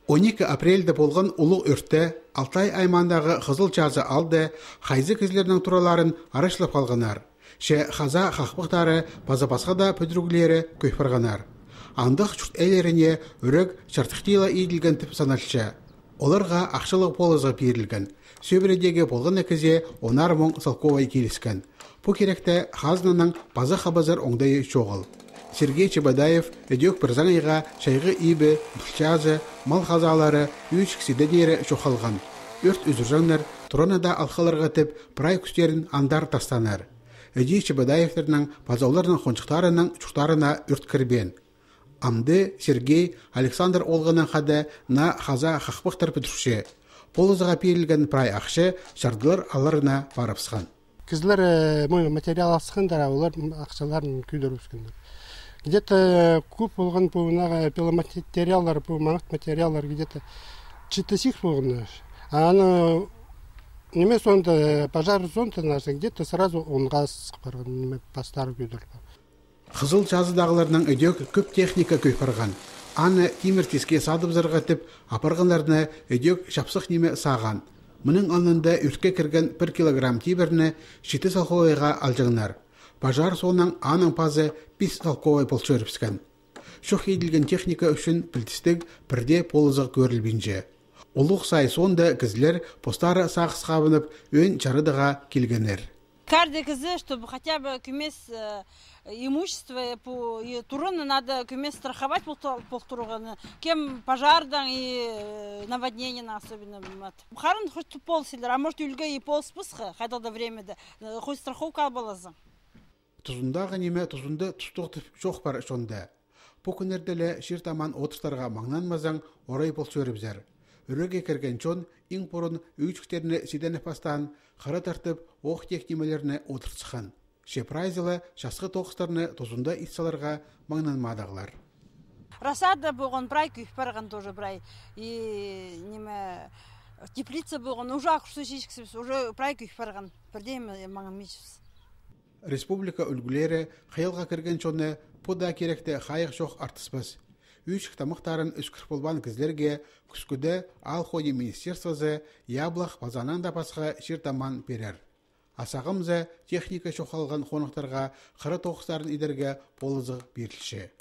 12 апрельде болған улуг өртте Алтай аймандағы қызыл жазы алды, хайзы кезлерінің тураларын арашылап қалғанар. Ше хаза хақпықтары база-басқа да пөдіргілері көйпірғанар. Андық чүрт әлеріне үрік шартықтила иділген тіп саналшы. Оларға ақшылық полызға берілген. Сөбіредегі болған әкізе онар мұң салковай келіскен. Бұ керекті хазнаның база хабазар оңдайы жоғыл. Сергей Чебадаев өдек бір заңайға шайғы ибі, бұлчазы, мал хазалары, үш кісідедері жоқалған. Өрт үзіржаңнар тұранада алқаларға тіп прай күстерін андар тастанар. Өдей Чебадаевтерінің базауларының қоншықтарының чуқтарына өрт кірбен. Амды Сергей Александр Олғының қады на хаза қақпықтар пүтірші. Полызыға перілген прай ақшы шардылар аларына барыпсқан. Кізлер материал асықындар, олар ақшаларын күйдер өскендер. Где-то куб болған бұғынағы пиломатериалдар, маңық материалдар где-то 4 болған. Аны неме сонда пожар зонта наша, где-то сразу онға сықып барған, неме бастары күйдер. Қызыл жазыдағыларының өдек көп техника көйпарған. Аны темір теске садып зырғатып, апарғанларына өдек шапсық неме саған. Мұның анында үртке кірген 1 килограмм тиберні 7 салқовайға алжығынар. Пожар соның аның пазы 5 салқовай полчы өріпскен. Шоқ еділген техника үшін білтістік бірде полызық көрілбенже. Олық сай сонда кізлер постары сағыз қабынып өн чарыдыға келгенер. Каждый кызы, чтобы хотя бы кюмес имущество по турону надо кюмес страховать полтурганы. Кем пожардан и наводнение особенно. Харан хоть пол силер, а может юльга и пол спусха, хотя до времени, хоть страховка была за. Тұзындағы неме тұзынды тұстықтып жоқ бар сонда. Бұл күнерделі шертаман отыстарға маңнанмазаң орай бол сөріпзер. Үріге кірген чон, ең бұрын үйчіктеріне седені пастан, қара тартып, оқ тектемелеріне отырсыған. Шепрайзылы шасқы тоқыстарыны тұзында итсаларға маңнанмадағылар. Расада болған брай күйіп барған тоже брай. И неме теплица болған, уже ақырсы шешкісіз, уже брай күйіп барған. Бірдеймі маңын мечіз. Республика үлгілері қиылға кірген чоны бұда керекті қайық жоқ артыспыз. Үйшік тамықтарын үскір болбан кізлерге күскүді ал ходи министерствозы яблақ базанан да басқа шертаман берер. Асағымзы техника шоқалған қонықтарға қыры тоқыстарын идерге болызы берілші.